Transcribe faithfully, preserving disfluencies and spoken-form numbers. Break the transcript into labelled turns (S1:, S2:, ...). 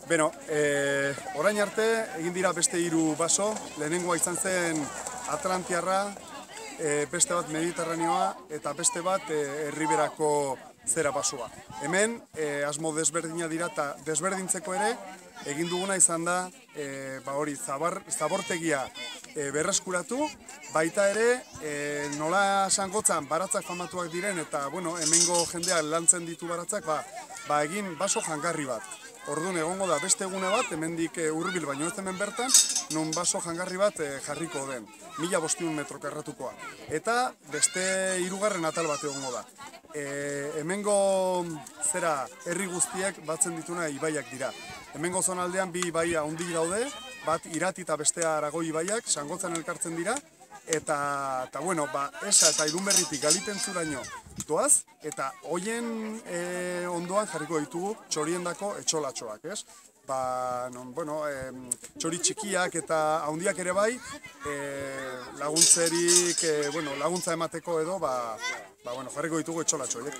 S1: Beno, e, orain arte egin dira beste hiru baso, lehenengoa izan zen Atlantiarra, e, beste bat Mediterraneoa eta beste bat e, Erriberako zera basoa. Hemen e, asmo desberdina dira eta desberdintzeko ere egin duguna izan da e, ba hori zabar, zabortegia e, berreskuratu, baita ere e, nola esangotzan baratzak famatuak diren eta bueno, hemengo jendea lantzen ditu baratzak, ba, ba egin baso jangarri bat. Orduan egongo da beste egune bat, hemendik hurbil baino ez hemen bertan, non baso jangarri bat jarriko den, mila bostehun metro karratukoa. Eta beste hirugarren atal bat egongo da. E, hemengo zera herri guztiek batzen dituna ibaiak dira. Hemengo zonaldean bi ibaia handik daude, bat Irati eta bestea Aragoi ibaiak, Sangotzan elkartzen dira, eta, eta bueno, ba, Esa eta Irunberritik Galitentzuraino doaz, eta hoien e, ondoan jarriko ditugu txoriendako etxolatxoak, ez? Ba, non, bueno, e, txori txikiak eta handiak ere bai, e, laguntzerik, e, bueno, laguntza emateko edo, ba, ba, bueno, jarriko ditugu etxolatxoak.